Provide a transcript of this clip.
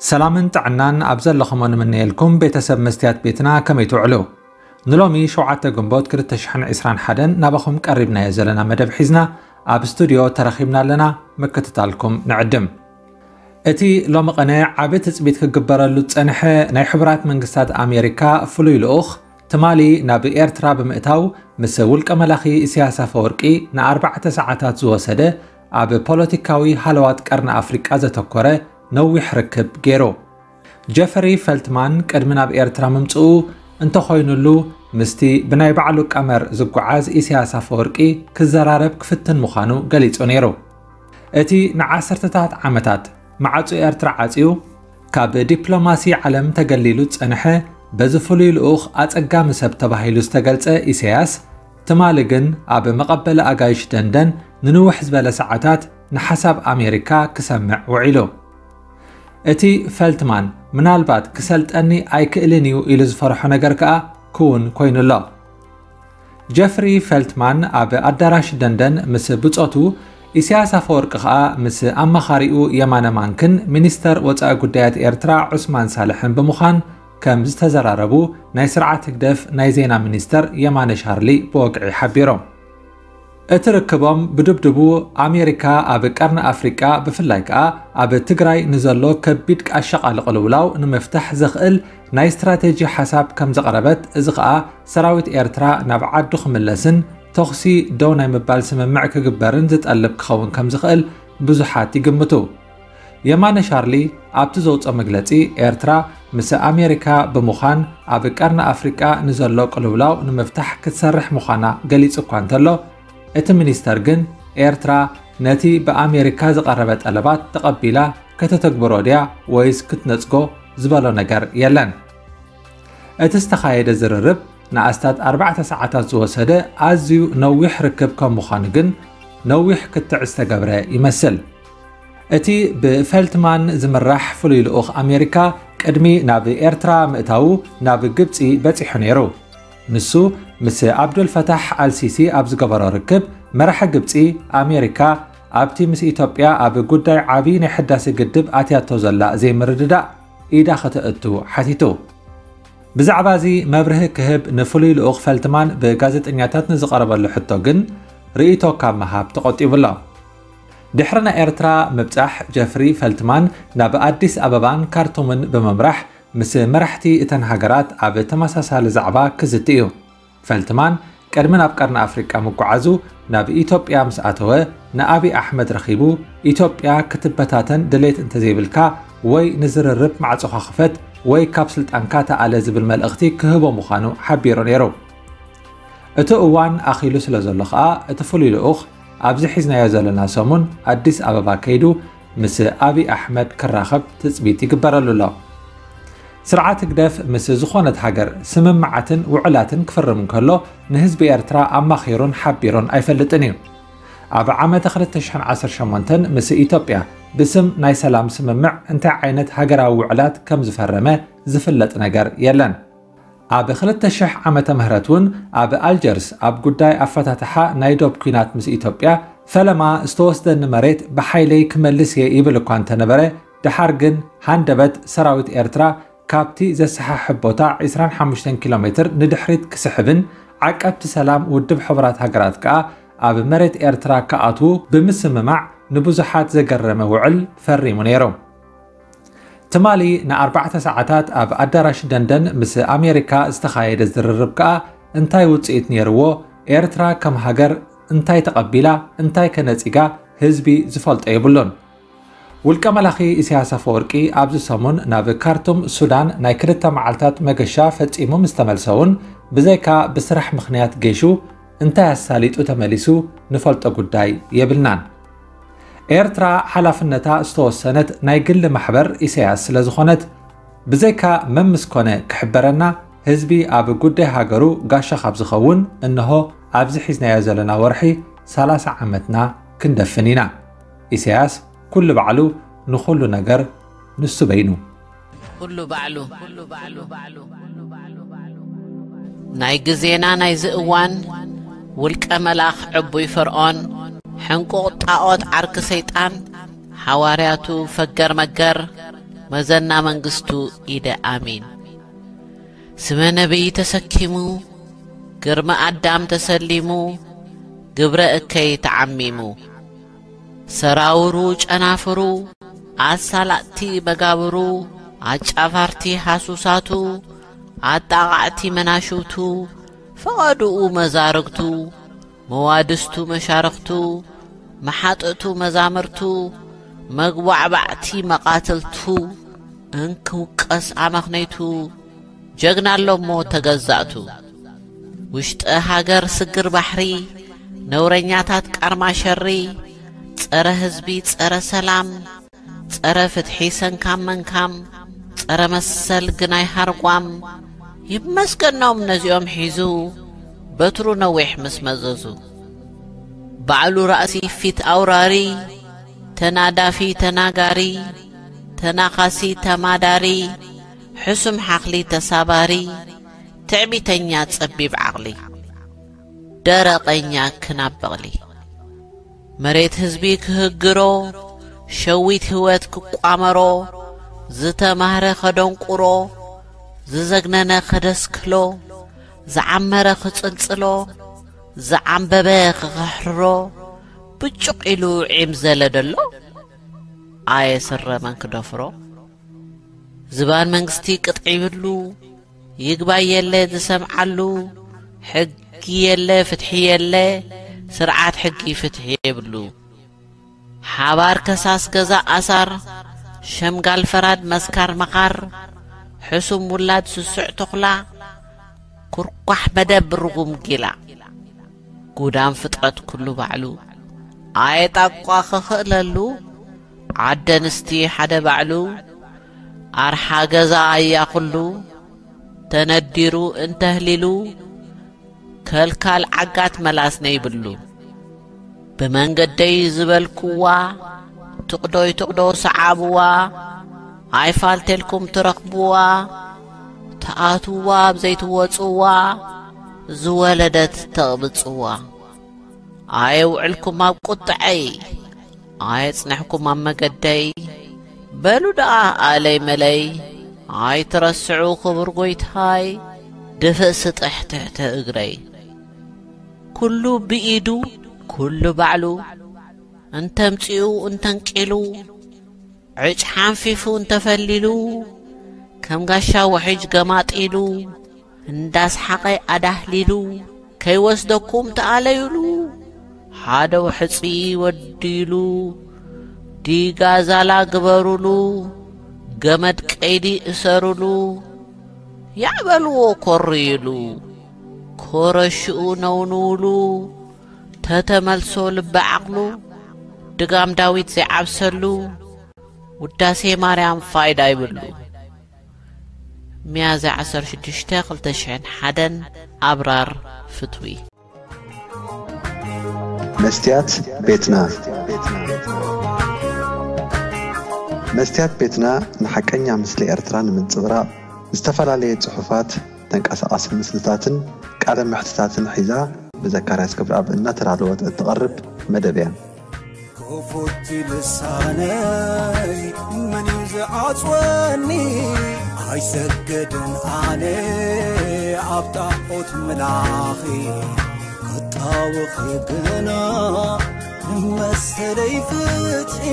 ሰላምን ጥዕናን ኣብ ዘለኹሞ ንምነየልኩም ቤተሰብ መስትያት ቤትና፣ ከመይ ትውዕሉ? ንሎሚ ሸውዓተ ግንቦት ክልተ ሽሕን ዕስራን ሓደን ናባኹም ቀሪብናዮ ዘለና መደብ ሒዝና ኣብ ስቱድዮ ተረኺብና ኣለና። ምክትታልኩም ንዕድም። እቲ ሎሚ ቐነ ዓቢ ትጽቢት ክግበረሉ ዝጸንሐ ናይ ሕቡራት መንግስታት ኣሜሪካ ፍሉይ ልኡኽ፣ ትማሊ ናብ ኤርትራ ብምእታው፣ ምስ ውልቀ መላኺ ኢሳያስ ኣፈወርቂ ንኣርባዕተ ሰዓታት ዝወሰደ ኣብ ፖለቲካዊ ሃለዋት ቀርኒ ኣፍሪቃ ዘተኮረ ነዊሕ ርክብ ገይሩ። ጀፈሪ ፈልትማን ቅድሚ ናብ ኤርትራ ምምጽኡ እንተኾይኑሉ፣ ምስቲ ብናይ ባዕሉ ቀመር ዝጓዓዝ ኢሳያስ ኣፈወርቂ ክዘራረብ ክፍትን ምዃኑ ገሊጹ ነይሩ። እቲ ንዓሰርተታት ዓመታት ማዕጾ ኤርትራ ዓጽዩ፣ ካብ ዲፕሎማሲ ዓለም ተገሊሉ ዝጸንሐ፣ በዚ ፍሉይ ልኡኽ ኣጸጋሚ ሰብ ተባሂሉ ዝተገልጸ ኢሳያስ፣ ትማሊ ግን ኣብ መቐበሊ ኣጋይሽ ደንደን ንንውሕ ዝበለ ሰዓታት ንሓሳብ ኣሜሪካ ክሰምዕ ውዒሉ። እቲ ፈልትማን ምናልባት ክሰልጠኒ ኣይክእልን እዩ ኢሉ ዝፈርሖ ነገር ከኣ ክውን ኮይኑ ኣሎ። ጀፍሪ ፈልትማን ኣብ ኣዳራሽ ደንደን ምስ ብጾቱ፣ ኢሳያስ ኣፈወርቂ ከኣ ምስ ኣማኻሪኡ የማነ ማንክን ሚኒስተር ወጻኢ ጉዳያት ኤርትራ ዑስማን ሳልሕን ብምዃን ከም ዝተዘራረቡ ናይ ስርዓት ህግደፍ ናይ ዜና ሚኒስተር የማነ ሻርሊ ብወግዒ ሓቢሮም። እቲ ርክቦም ብድብድቡ፣ ኣሜሪካ ኣብ ቀርኒ ኣፍሪቃ፣ ብፍላይ ከኣ ኣብ ትግራይ ንዘሎ ከቢድ ኣሻቓሊ ቅልውላው ንምፍታሕ ዘኽእል ናይ ስትራቴጂ ሓሳብ ከም ዘቕረበት፣ እዚ ከኣ ሰራዊት ኤርትራ ናብ ዓዱ ክምለስን ተኹሲ ደው ናይ ምባል ስምምዕ ክግበርን ዝጠልብ ክኸውን ከም ዝኽእል ብዙሓት ይግምቱ። የማነ ሻርሊ ኣብቲ ዘውጾ መግለጺ፣ ኤርትራ ምስ ኣሜሪካ ብምዃን ኣብ ቀርኒ ኣፍሪቃ ንዘሎ ቅልውላው ንምፍታሕ ክትሰርሕ ምዃና ገሊጹ እኳ እንተሎ፣ እቲ ሚኒስተር ግን ኤርትራ ነቲ ብኣሜሪካ ዝቐረበ ጠለባት ተቐቢላ ከተተግብሮ ድያ ወይስ ክትነጽጎ ዝበሎ ነገር የለን። እቲ ዝተኻየደ ዝርርብ ንኣስታት ኣርባዕተ ሰዓታት ዝወሰደ ኣዝዩ ነዊሕ ርክብ ከም ምዃኑ ግን፣ ነዊሕ ክትዕ ዝተገብረ ይመስል። እቲ ብፈልትማን ዝምራሕ ፍሉይ ልኡኽ ኣሜሪካ ቅድሚ ናብ ኤርትራ ምእታዉ ናብ ግብጺ በጺሑ ነይሩ። ንሱ ምስ ኣብዱልፈታሕ ኣልሲሲ ኣብ ዝገበሮ ርክብ፣ መራሒ ግብጺ፣ ኣሜሪካ ኣብቲ ምስ ኢትዮጵያ ኣብ ጉዳይ ዓቢ ናይ ሕዳሴ ግድብ ኣትያቶ ዘላ ዘይምርድዳእ ኢዳ ከተእቱ ሓቲቱ። ብዛዕባ እዚ መብርሂ ክህብ ንፍሉይ ልኡኽ ፈልትማን ብጋዜጠኛታት ንዝቐረበሉ ሕቶ ግን፣ ርእይቶ ካብ ምሃብ ተቖጢቡ ኣሎ። ድሕሪ ናይ ኤርትራ ምብጻሕ፣ ጀፍሪ ፈልትማን ናብ ኣዲስ ኣበባን ካርቱምን ብምምራሕ፣ ምስ መራሕቲ እተን ሃገራት ኣብ ተመሳሳሊ ዛዕባ ክዝቲ እዩ። ፈልትማን ቅድሚ ናብ ቀርኒ ኣፍሪቃ ምጉዓዙ፣ ናብ ኢትዮጵያ ምስ ኣተወ፣ ንኣቢ ኣሕመድ ረኺቡ፣ ኢትዮጵያ ክትበታተን ድሌት እንተዘይብልካ ወይ ንዝርርብ ማዕጾኻ ክፈት ወይ ካብ ስልጣንካ ተኣለ ዝብል መልእኽቲ ክህቦ ምዃኑ ሓቢሩ ነይሩ። እቲ እዋን ኣኺሉ ስለ ዘሎ ከኣ፣ እቲ ፍሉይ ልኡኽ ኣብዚ ሒዝናዮ ዘለና ሰሙን ኣዲስ ኣበባ ከይዱ ምስ ኣቢ ኣሕመድ ክራኸብ ትጽቢት ይግበረሉ ኣሎ። ስርዓት ህግደፍ ምስ ዝኾነት ሃገር ስምምዓትን ውዕላትን ክፍርም እንከሎ፣ ንህዝቢ ኤርትራ ኣማኺሩን ሓቢሩን ኣይፈልጥን እዩ። ኣብ ዓመተ ክልተ ሽሕን ዓሰርተ ሸሞንተን ምስ ኢትዮጵያ ብስም ናይ ሰላም ስምምዕ እንታይ ዓይነት ሃገራዊ ውዕላት ከም ዝፈረመ ዝፍለጥ ነገር የለን። ኣብ ክልተ ሽሕ ዓመተ ምህረት እውን ኣብ ኣልጀርስ ኣብ ጉዳይ ኣፈታትሓ ናይ ዶብ ኲናት ምስ ኢትዮጵያ ፈለማ ዝተወስደኒ መሬት ብሓይለይ ክመልስ እየ ይብል እኳ እንተነበረ፣ ደሓር ግን ሃንደበት ሰራዊት ኤርትራ ካብቲ ዘሰሓሕብ ቦታ ዕስራን ሓሙሽተን ኪሎ ሜትር ንድሕሪት ክስሕብን ዓቀብቲ ሰላም ውድብ ሕቡራት ሃገራት ከኣ ኣብ መሬት ኤርትራ ክኣትዉ ብምስምማዕ ንብዙሓት ዘገረመ ውዕል ፈሪሙ ነይሩ። ትማሊ ንኣርባዕተ ሰዓታት ኣብ ኣዳራሽ ደንደን ምስ ኣሜሪካ ዝተኻየደ ዝርርብ ከኣ እንታይ ውጽኢት ነይርዎ? ኤርትራ ከም ሃገር እንታይ ተቐቢላ? እንታይ ከ ነጺጋ? ህዝቢ ዝፈልጦ የብሉን። ውልቀ መላኺ ኢሳያስ ኣፈወርቂ ኣብዚ ሰሙን ናብ ካርቱም ሱዳን ናይ ክልተ መዓልታት መገሻ ፈጺሙ ምስ ተመልሰ እውን፣ ብዘይካ ብስራሕ ምኽንያት ጌሹ እንታይ ኣሳሊጡ ተመሊሱ ንፈልጦ ጉዳይ የብልናን። ኤርትራ ሓላፍነታ ዝተወሰነት ናይ ግሊ ማሕበር ኢሳያስ ስለ ዝኾነት፣ ብዘይካ መምስ ኮነ ክሕበረና፣ ህዝቢ ኣብ ጉዳይ ሃገሩ ጋሻ ካብ ዝኸውን፣ እንሆ ኣብዚ ሒዝናዮ ዘለና ወርሒ ሰላሳ ዓመትና ክንደፍን ኢና። ኢሳያስ ኩሉ ባዕሉ፣ ንኹሉ ነገር ንሱ በይኑ። ኩሉ ባዕሉ። ናይ ግዜና ናይዚ እዋን ውልቀ መላኽ ዕቡይ ፈርዖን፣ ሕንቁቕ ጣዖት ዓርኪ ሰይጣን፣ ሓዋርያቱ ፈገር መገር፣ መዘና መንግስቱ ኢደ ኣሚን። ስመ ነቢይ ተሰኪሙ፣ ግርመ ኣዳም ተሰሊሙ፣ ግብረ እከይ ተዓሚሙ። ሰራውሩ ጨናፍሩ፣ ኣሳላጥቲ መጋብሩ፣ ኣጫፋርቲ ሃሱሳቱ፣ ኣጣቓዕቲ መናሽውቱ፣ ፈቐድኡ መዛርግቱ፣ መዋድስቱ መሻርኽቱ፣ መሓጥእቱ መዛምርቱ፣ መግቧዕባዕቲ መቓትልቱ፣ እንክውቀስ ኣመኽነይቱ፣ ጀግና ኣሎሞ ተገዛእቱ። ውሽጠ ሃገር ስግር ባሕሪ፣ ነውረኛታት ቃርማ ሸሪ፣ ጸረ ህዝቢ፣ ጸረ ሰላም፣ ጸረ ፍትሒ ሰንካም መንካም፣ ጸረ መሰል ግናይ ሃርጓም። ይመስገኖም ነዚኦም ሒዙ፣ በትሩ ነዊሕ ምስ መዘዙ። ባዕሉ ራእሲ ፊት ኣውራሪ፣ ተናዳፊ ተናጋሪ፣ ተናኻሲ ተማዳሪ፣ ሕሱም ሓኽሊ ተሳባሪ፣ ትዕቢተኛ ጸቢብ ዓቕሊ፣ ደረቐኛ ክናብ በቕሊ። መሬት ህዝቢ ክህግሮ፣ ሸዊት ህይወት ክቋመሮ፣ ዝተማህረ ከደንቁሮ፣ ዝዘግነነ ከደስክሎ፣ ዝዓመረ ክጽልጽሎ፣ ዝዓምበበ ክኽሕርሮ፣ ብጩቕ ኢሉ ዒም ዘለ ደሎ፣ ኣየ ስረ መን ክደፍሮ? ዝባን መንግስቲ ቅጥዒ ይብሉ፣ ይግባይ የለ ዝሰምዓሉ፣ ሕጊ የለ ፍትሒ የለ፣ ስርዓት ሕጊ ፍትሒ የብሉ። ሓባር ከሳስ ገዛ ኣሳር፣ ሸምጋል ፈራድ መስካር መኻር፣ ሕሱም ውላድ ስሱዕ ተኹላ፣ ኩርኳሕ መደብ ርጉም ጊላ። ጉዳም ፍጥረት ኩሉ ባዕሉ፣ ኣየጣቋ ክኽእለሉ፣ ዓደ ኣንስቲ ሓደ ባዕሉ፣ ኣርሓ ገዛ ኣያ ኩሉ፣ ተነዲሩ እንተህሊሉ፣ ከልካል ዓጋት መላስ ነይብሉ። ብመንገደይ ዝበልኩዋ፣ ትቕዶይ ትቕዶ ሰዓብዋ፣ ኣይፋልቴልኩም ትረኽብዋ፣ ትኣትውዋ ኣብ ዘይትወጽዋ፣ ዝወለደት ተቕብጽዋ። ኣየውዕልኩም ኣብ ቁጥዐይ፣ ኣየጽንሕኩም ኣብ መገደይ። በሉ ደኣ ኣለይ መለይ፣ ኣይትረስዑ ክቡር ጎይታይ፣ ድፍእ ስጥሕ ትሕቲ እግረይ። ኩሉ ብኢዱ፣ ኩሉ ባዕሉ፣ እንተምጺኡ እንተንቂሉ፣ ዕጭ ሓንፊፉ እንተፈሊሉ፣ ከም ጋሻ ውሕጅ ገማጢሉ፣ እንዳስሓቐ ኣዳህሊሉ፣ ከይወስደኩም ተኣለዩሉ፣ ሓደ ውሕጺ ወዲሉ፣ ዲጋ ዛላ ግበሩሉ፣ ገመድ ቀይዲ እሰሩሉ፣ ያዕበልዎ ኮርዩሉ፣ ኮረሽኡ ነውንውሉ፣ ተተመልሶ ልበ ዓቕሉ፣ ድጋም ዳዊት ዘይዓብሰሉ፣ ውዳሴ ማርያም ፋይዳ ይብሉ። ሚያዝያ ዓሰርተ ሽዱሽተ ክልተ ሽሕን ሓደን ኣብራር ፍትዊ። መስትያት ቤትና። መስትያት ቤትና ንሓቀኛ ምስሊ ኤርትራ ንምንጽብራቕ ዝተፈላለየ ጽሑፋት፣ ተንቀሳቓሲ ምስልታትን ቃለ መሕትታትን ሒዛ ብዘካርያስ ገብረኣብ እናተዳለወት እትቐርብ መደብ እያ። ክፉት ልሳነይ መን እዩ ዝዓጽወኒ? ኣይሰግድን ኣነ ኣብ ጣዖት ምላኺ ክጣወኺ ግና ንመሰለይ ፍትሒ